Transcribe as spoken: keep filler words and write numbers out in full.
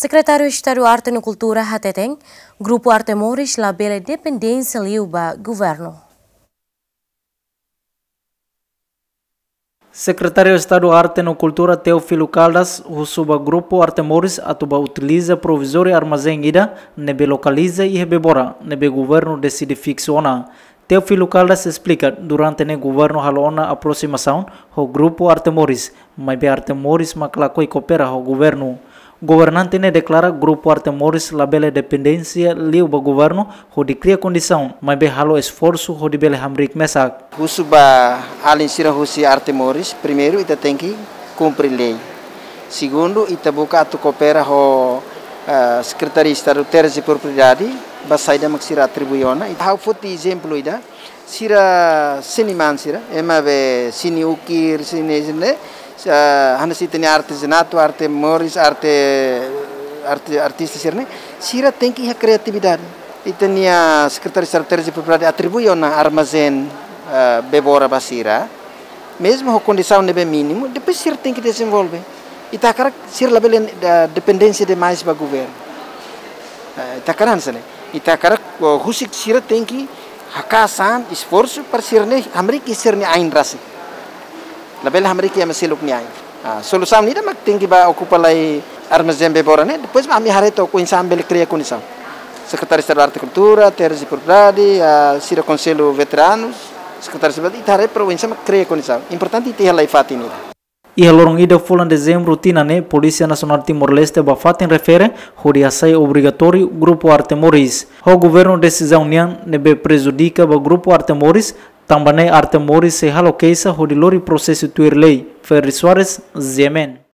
Sekretáriu Estadu Arte no Kultura hateten, Grupu Arte Moris labele dependénsia liu ba governu. Sekretáriu Estadu Arte no Kultura Teófilo Caldas husu ba Grupu Arte Moris atu bá utiliza provizóriu armazén ida ne'ebé lokaliza iha Bebora, ne'ebé governu deside fiksu ona. Teófilo Caldas esplika, durante ne'e governu halo ona aprosimasaun ho Grupu Arte Moris, maibé Arte Moris mak lakohi koopera ho governu. Governante ne'e deklara Grupu Arte Moris labele dependénsia liu ba governu hodi kria kondisaun, maibé halo esforsu hodi bele hamriik mesak. Husu ba alin sira husi Arte Moris, primeiru ita tenke kumpre lei. Segundu, ita buka atu koopera ho, eh, Sekretaria Estadu Terras e Propriedade, ba saida mak sira atribui ona. Ita ha'u foti ezemplu ida, sira seniman sira, ema be seni ukir, seni, seni, eh, hanesan ita-nia artezanatu, Arte Moris, arte, arte, artista sira-ne'e, sira tenke iha kriatividade. Ita-nia Sekretaria Estadu Terras e Propriedade atribui ona armazén, eh, Bebora ba sira. Mezmu ho kondisaun ne'ebé mínimu, depois sira tenke dezenvolve. Ita hakarak sira labele, eh, dependénsia demais ba governu. Eh, ita hakarak hanesan ne'e. Ita hakarak, oh, husik sira tenke hakaas an, esforsu para sira-ne'e hamriik sira-nia ain rasik. Labele hamriik ema seluk nia ain. Ah, solusaun ida mak tenke bá okupa lai armazén Bebora ne'e, depois mak ami haree took oinsá ami bele kria kondisaun. Sekretáriu Estadu Arte e Kultura, Terras e Propriedade, ah, sira Konsellu Veteranus, Sekretáriu Estadu, ita haree para oinsá mak kria kondisaun. Importante ita iha lai fatin ida. Iha loron ida fulan Dezembru tinan ne'e, Polísia Nasionál Timor-Leste bá fatin refere hodi hasai obrigatóriu Grupu Arte Moris. Ho governu desizaun nian ne'ebé prejudika ba Grupu Arte Moris, tanba ne'e Arte Moris sei halo keixa hodi lori prosesu tuir lei. Ferry Soares, G M N.